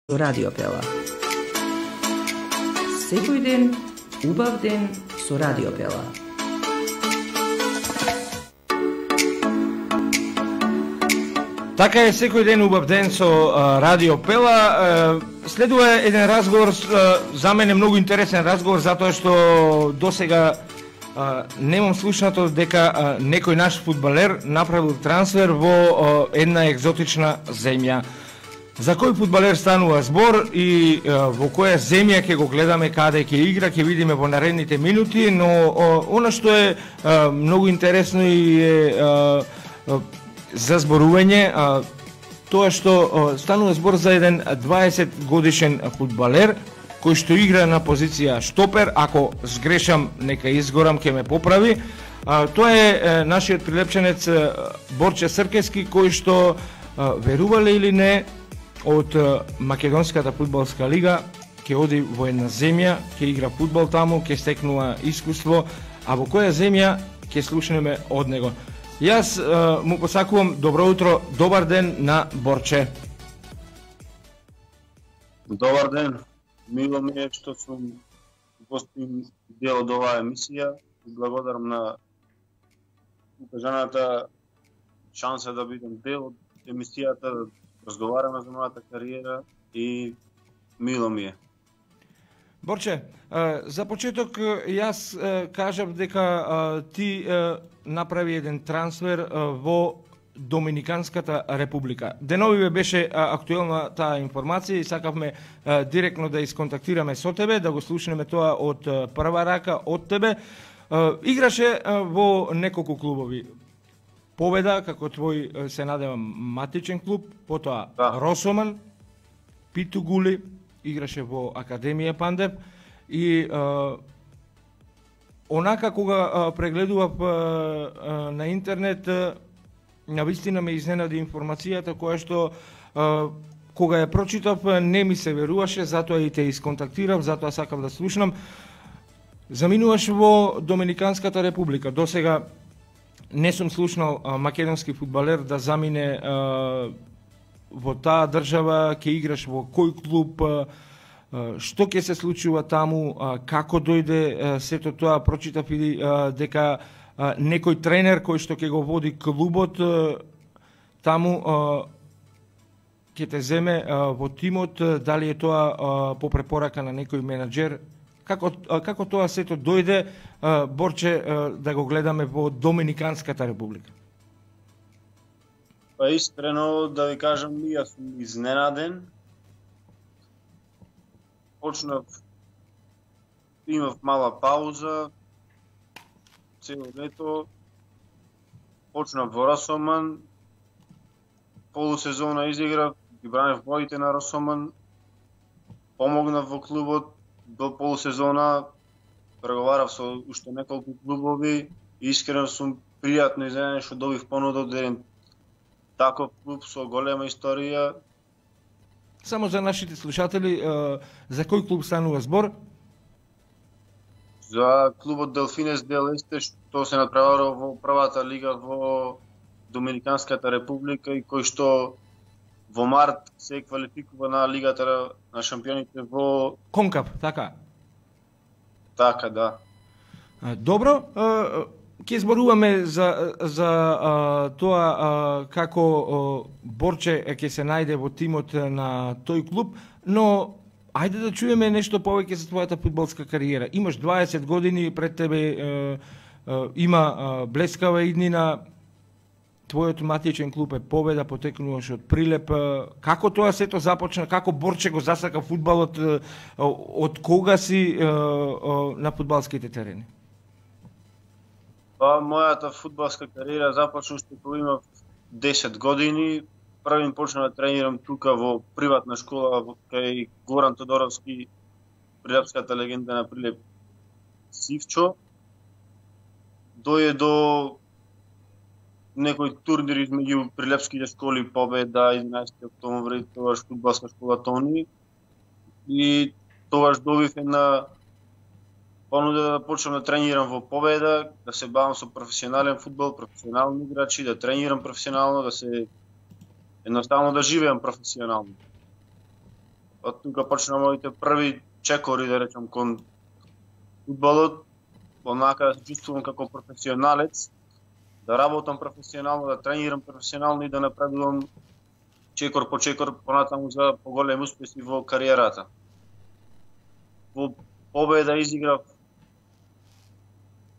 Радио Пела. Секој ден, убав ден со Радио Пела. Така е, секој ден убав ден со Радио Пела. Следува еден разговор, за мене многу интересен разговор, затоа што досега немам слушнато дека некој наш фудбалер направил трансфер во една екзотична земја. За кој фудбалер станува збор и во која земја ќе го гледаме, каде ќе игра, ќе видиме во наредните минути, но она што е многу интересно и е за зборување, тоа што станува збор за еден 20 годишен фудбалер кој што игра на позиција штопер, ако сгрешам нека изгорам, ќе ме поправи. Тоа е нашиот прилепченец Борче Сркески, кој што верувале или не, од Македонската фудбалска лига ќе оди во една земја, ќе игра фудбал таму, ќе стекнува искуство, а во која земја ќе слушнеме од него. Јас му посакувам добро утро, добар ден на Борче. Добар ден, мило ми е што сум гостин дел од оваа емисија и благодарам на укажаната шанса да бидам дел од емисијата, да разговараме за мојата кариера и мило ми е. Борче, за почеток јас кажав дека ти направи еден трансфер во Доминиканската република. Деновиве беше актуелна таа информација и сакавме директно да исконтактираме со тебе, да го слушнеме тоа од прва рака од тебе. Играше во неколку клубови. Победа, како твој се надевам матичен клуб, потоа Росоман, Питу Гули, играше во Академија Пандев и онака кога прегледував на интернет, навистина ме изненади информацијата која што кога ја прочитав не ми се веруваше, затоа и те исконтактирав, затоа сакав да слушнам. Заминуваш во Доминиканската република. Досега не сум слушнал македонски фудбалер да замине во таа држава, ќе играш во кој клуб, што ќе се случува таму, како дојде сето тоа. Прочитав и дека некој тренер кој што ќе го води клубот таму ќе те земе во тимот, дали е тоа по препорака на некој менаџер. Како тоа сето дојде, Борче, да го гледаме во Доминиканската република? Па искрено да ви кажам, јас сум изненаден. Имав мала пауза, цело лето, почнав во Росоман, полусезона изиграв, ги бранев боите на Росоман, помогнав во клубот до полусезона, преговарав со уште неколку клубови и искрено сум пријатно изненаден што добив понуда од еден таков клуб со голема историја. Само за нашите слушатели, за кој клуб станува збор? За клубот Делфинес дел Есте, што се натпреварува во првата лига во Доминиканската република и кој што во март се квалификува на лигата на шампионите во Конкав, така? Така, да. Добро, ќе зборуваме за тоа како Борче ќе се најде во тимот на тој клуб, но ајде да чуеме нешто повеќе за твојата фудбалска кариера. Имаш 20 години пред тебе, има блескава иднина. Твојот матичен клуб е Победа, потекнуваш од Прилеп. Како тоа сето започна? Како Борче го засака фудбалот? Од кога си на фудбалските терени? Па, мојата фудбалска кариера започна уште кога имав 10 години. Првин почнав да тренирам тука во приватна школа кај Горан Тодоровски, прилепската легенда на Прилеп Сивчо. Дојде до некои турнири измеѓу прилепските школи Победа, 11 октомври, тогаш фудбалска школа Тони. И тогаш добив една понуда да почнам да тренирам во Победа, да се бавам со професионален фудбал, професионални играчи, да тренирам професионално, да се едноставно да живеам професионално. од тука почна моите први чекори, да речам, кон фудбалот, онака се чувствувам како професионалец, да работам професионално, да тренирам професионално и да напредувам чекор по чекор понатаму за поголеми успеси во кариерата. Во победа изиграв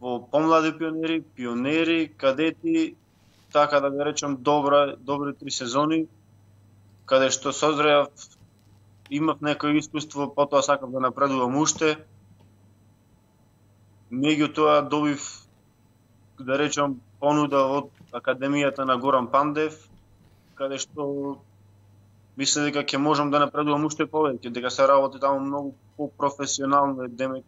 во помлади пионери, кадети, така да го речам добри 3 сезони, каде што созреав, имав некој искуство, потоа сакав да напредувам уште. Меѓутоа добив, да речам, понуда од Академијата на Горан Пандев, каде што мисле дека ќе можам да напредувам уште повеќе, дека се работи таму многу по-професионално, демек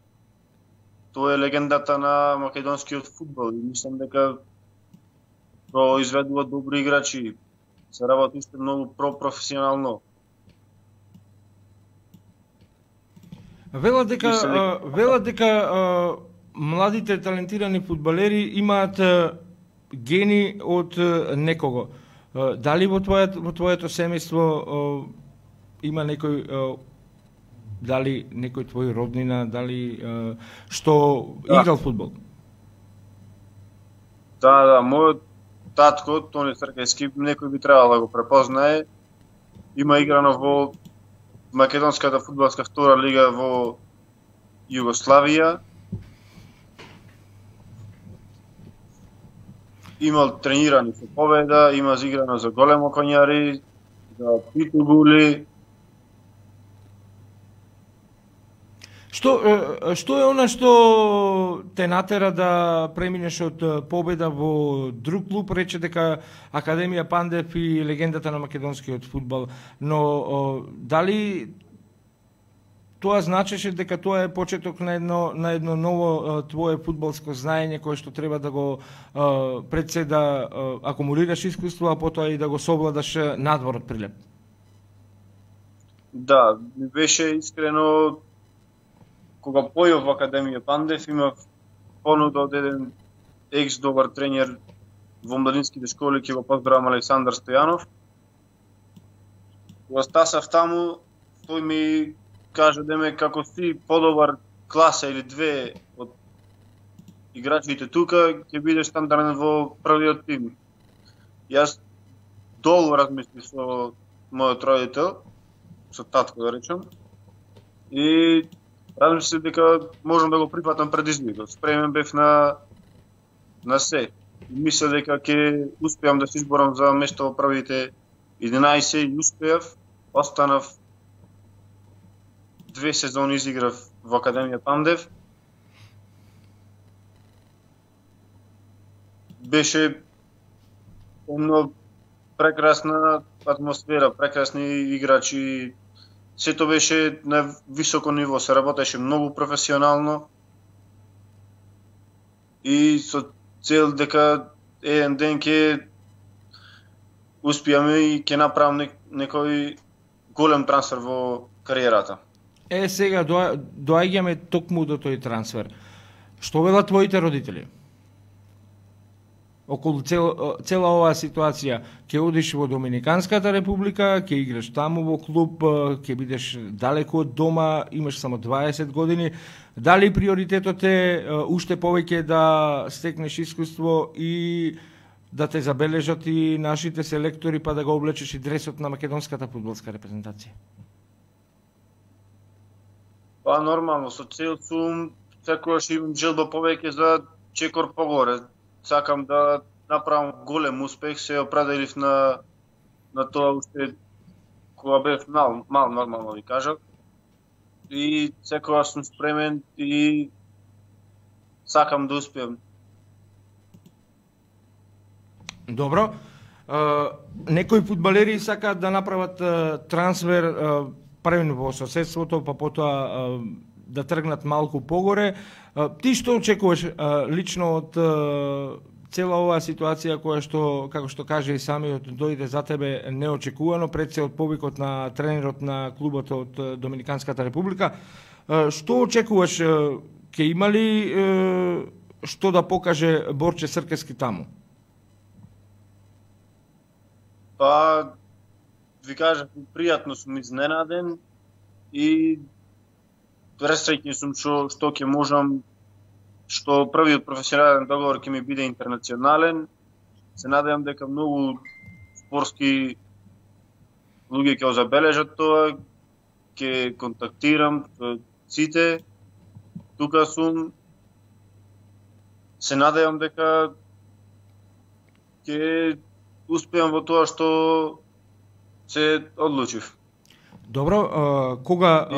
тоа е легендата на македонскиот фудбал и мислам дека произведува добри играчи, се работи уште многу професионално. Велат дека младите талентирани фудбалери имаат гени од некого. Дали во твоето семејство има некој, дали некој твој роднина, дали што играл фудбал? Да, мојот татко, Тони Цркејски, некој би требало да го препознае. Има играно во македонската фудбалска втора лига во Југославија. Имал тренирани со победа, има зиграно за големо конјари, за питбули. Што е она што те натера да преминеш од победа во друг клуб, рече дека Академија Пандев и легендата на македонскиот фудбал, но дали тоа значеше дека тоа е почеток на едно ново твое фудбалско знаење кое што треба да го пред се да акумулираш искуство, а потоа и да го совладаш надвор од Прилеп? Да, ми беше искрено кога појав во Академија Пандев, имав понуда од еден екс-добар тренер во младинските школи, ќе го поздравам Александар Стојанов. Кога стасав таму, тој ми кажа демек како си подобар класа или две од играчите тука, ќе бидеш стандарден во првиот тим. Јас долго размислив со мојот родител, со татко да речем, и размислив дека можам да го прифатам предизвикот. Спремен бев на се. Мислев дека ќе успеам да се изборам за место во првите 11 и успеав. Останав 2 сезони изиграв во Академија Пандев. Беше едно прекрасна атмосфера, прекрасни играчи. Сето беше на високо ниво, се работеше многу професионално и со цел дека еден ден ќе успеаме и ќе направам некој голем трансфер во кариерата. Сега доаѓаме токму до тој трансфер. Што велат твоите родители? Околу цела оваа ситуација, ќе одиш во Доминиканската република, ќе играш таму во клуб, ќе бидеш далеку од дома, имаш само 20 години. Дали приоритетот е уште повеќе да стекнеш искуство и да те забележат и нашите селектори, па да го облечеш и дресот на македонската фудбалска репрезентација? Па нормално, со цел сум, секогаш имам желба повеќе за чекор погоре. Сакам да направам голем успех, се определив на тоа уште кога бев мал нормално ви кажав. И секогаш сум спремен и сакам да успеам. Добро. Некои фудбалери сакаат да направат трансфер првено во соседството, па потоа да тргнат малку погоре. Ти што очекуваш лично од цела оваа ситуација која што, како што каже и самиот, дојде за тебе неочекувано пред се од повикот на тренерот на клубот од Доминиканската република? Што очекуваш? Ќе има ли што да покаже Борче Цркејски таму? Па, ви кажав, пријатно сум изненаден. и пресреќен сум што ќе можам, што првиот професионален договор ќе ми биде интернационален. Се надевам дека многу спортски луѓе ќе го забележат тоа, ќе контактирам сите. Тука сум. Се надевам дека ќе успеам во тоа што се одлучив. Добро, кога...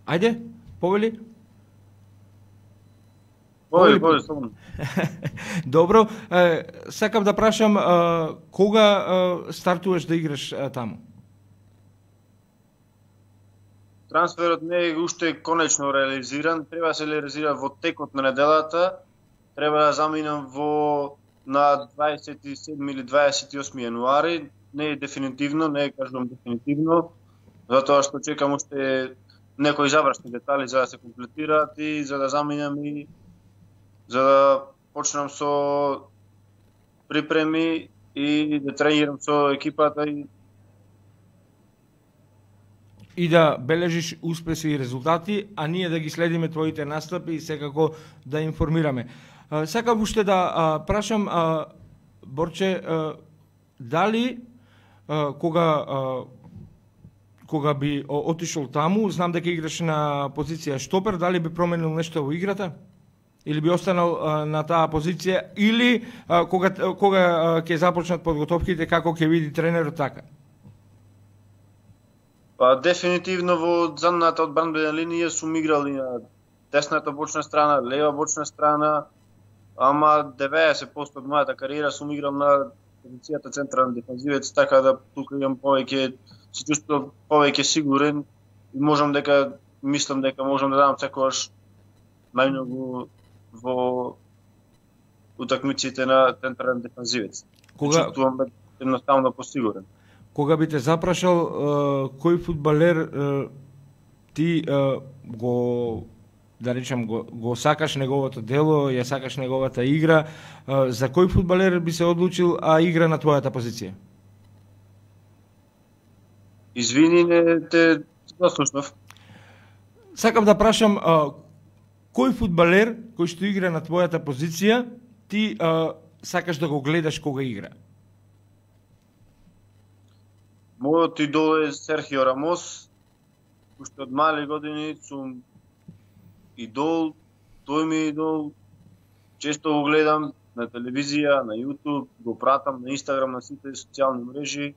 Ајде, повели? Повели, само. Добро, сакам да прашам, кога стартуваш да играш таму? Трансферот не е уште конечно реализиран, треба да се реализира во текот на неделата, треба да заминам на 27 или 28 јануари, не е дефинитивно, не е кажувам дефинитивно, затоа што чекам уште некои завршни детали за да се комплетираат и за да заминам и за да почнам со припреми и да тренирам со екипата и да бележиш успеси и резултати, а ние да ги следиме твоите настапи и секако да информираме. Сакам уште да прашам, Борче, дали кога би отишол таму, знам дека играш на позиција штопер, дали би променил нешто во играта? Или би останал на таа позиција, или кога ќе започнат подготовките, како ќе види тренерот така? Па дефинитивно во задната одбранбена линија сум играл и на десната бочна страна, лева бочна страна, ама 90% од мојата кариера сум играл на позицијата централен дефанзивец, така да тука имам повеќе, се чувствувам повеќе сигурен и мислам дека можам да дадам секогаш најмногу во утакмиците на централен дефанзивец. Чувствувам едноставно посигурен. Кога би те запрашал кој фудбалер ти го да речем го сакаш неговото дело, ја сакаш неговата игра, за кој фудбалер би се одлучил а игра на твојата позиција? Извини, не те заслушнав. Сакам да прашам кој фудбалер кој што игра на твојата позиција ти сакаш да го гледаш кога игра? Мојот идол е Серхио Рамос. Уште од мали години сум идол, тој ми е идол. Често го гледам на телевизија, на YouTube, го пратам на Инстаграм, на сите социјални мрежи.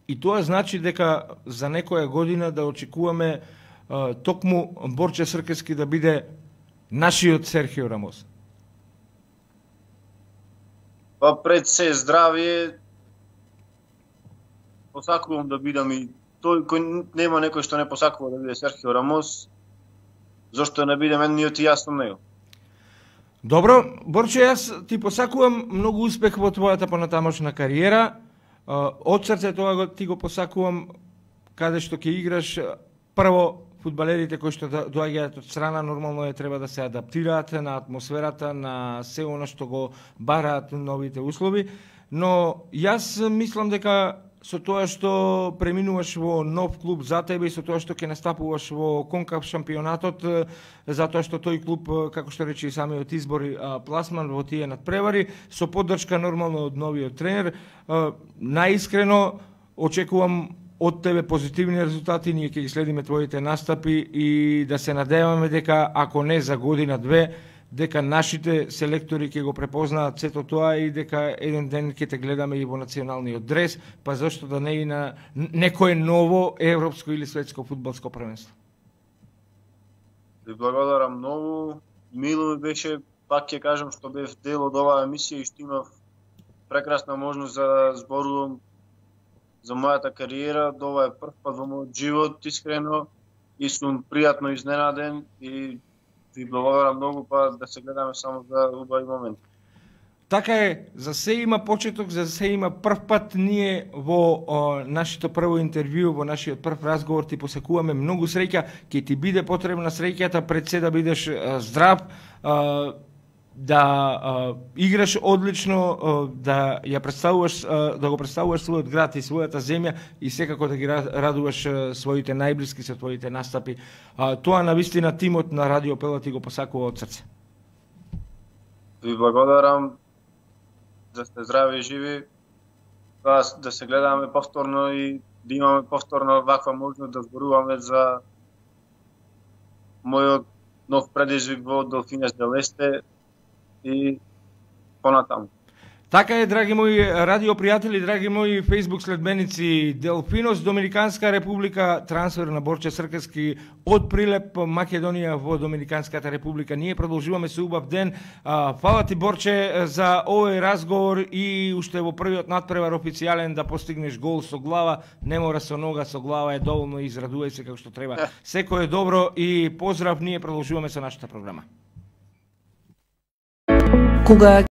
И тоа значи дека за некоја година да очекуваме токму Борче Сркески да биде нашиот Серхио Рамос. Па пред се здравие, посакувам да бидам и тој кој нема некој што не посакува да биде Серхио Рамос, зашто не бидем едниот и јас со него. Добро, Борче, јас ти посакувам многу успех во твојата понатамошна кариера. Од срце тоа ти го посакувам каде што ќе играш. Прво, фудбалерите кои што доаѓаат од страна нормално треба да се адаптираат на атмосферата, на се она што го бараат новите услови, но јас мислам дека со тоа што преминуваш во нов клуб за тебе и со тоа што ќе настапуваш во Конкаф шампионатот, затоа што тој клуб, како што рече и самиот избор, пласман во тие надпревари, со поддршка нормално од новиот тренер, најискрено очекувам од тебе позитивни резултати, ние ќе ги следиме твоите настапи и да се надеваме дека ако не за година-две, дека нашите селектори ќе го препознаат сето тоа и дека еден ден ќе те гледаме и во националниот дрес, па зашто да не и на некое ново европско или светско фудбалско првенство. Ви благодарам многу. Мило ми беше, пак ќе кажам, што бев дел од оваа емисија и што имав прекрасна можност да зборувам за мојата кариера. Ова е прв пат во мојот живот, искрено, и сум пријатно изненаден и ви благодарам многу, па да се гледаме само за убави моменти. Така е, за се има почеток, за се има прв пат. Ние во нашето прво интервју, во нашиот прв разговор ти посакуваме многу среќа, ќе ти биде потребна среќата пред се да бидеш здрав, да играш одлично, да ја представуваш, да го представуваш својот град и својата земја и секако да ги радуваш своите најблиски со твоите настапи. Тоа навистина тимот на Радио Пела ти го посакува од срце. Ви благодарам, да сте здрави и живи, да се гледаме повторно и да имаме повторно ваква можност да зборуваме за мојот нов предизвик во Delfines del Este и понатаму. Така е, драги мои радио пријатели, драги мои Facebook следбеници, Делфинос, Доминиканска република, трансфер на Борче Сркески од Прилеп, Македонија во Доминиканската република. Ние продолжуваме со убав ден. Фала ти, Борче, за овој разговор и уште во првиот натпревар официјален да постигнеш гол со глава, не мора со нога, со глава е доволно, израдувај се како што треба. Секој е добро и поздрав, ние продолжуваме со нашата програма. Кога